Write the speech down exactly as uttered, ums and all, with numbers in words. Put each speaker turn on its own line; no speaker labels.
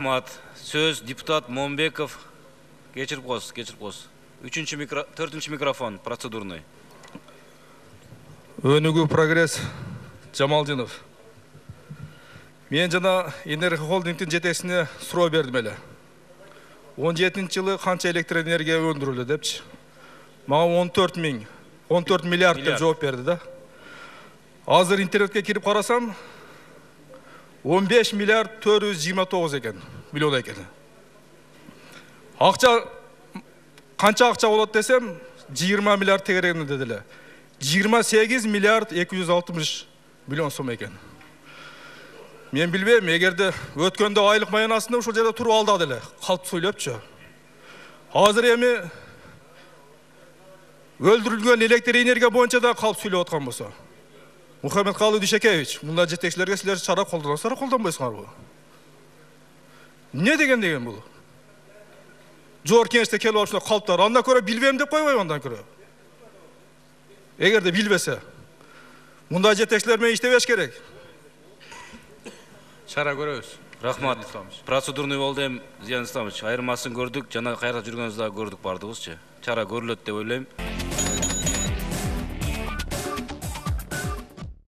Рахмат. Сөз депутат Момбеков. Кечирип коесуз, кечирип коесуз. Үчүнчү микро, төртүнчү микрофон процедурный.
Өнүгүү прогресс Жамалдинов. Мен жана Энерго холдингдин жетекчисине суроо бердим эле. он жетинчи жылы канча электр энергия өндүрүлдү депчи. Мага он төрт миң, он төрт миллиард деп жооп берди да. Азыр интернетке кирип карасам, он беш миллиард төрт жүз жыйырма тогуз экен, миллион экен. Акча канча акча болот десем, жыйырма миллиард тегерегинде дедиле. жыйырма сегиз миллиард эки жүз алтымыш миллион сом экен. Мен билбейм, эгерде өткөндө айлык маянасында ушул жерде туруп алды деле, калп сүйлөпчү. Азыр эми өлтүрүлгөн электр энергия боюнча да калп сүйлөп аткан болсо. Мухаммедкалый Дүйшөкеевич, мында жетекчилерге силер чара колдоносуздар, колдонбойсуңарбы? Не деген деген бул? Жогорку кеңеште келип алып ушундай калптар, андан көрө билбейм деп койбойбу андан көрө? Эгерде билбесе, мында жетекчилер менен иштебеш керек.
Чара көрөбүз.
Рахмат. Процедурный болду эми, Зиян Исламович. Айырмасын көрдүк, жана кайра жүргөнүбүздө көрдүк бардыгыбызчы. Чара көрүлөт деп ойлойм.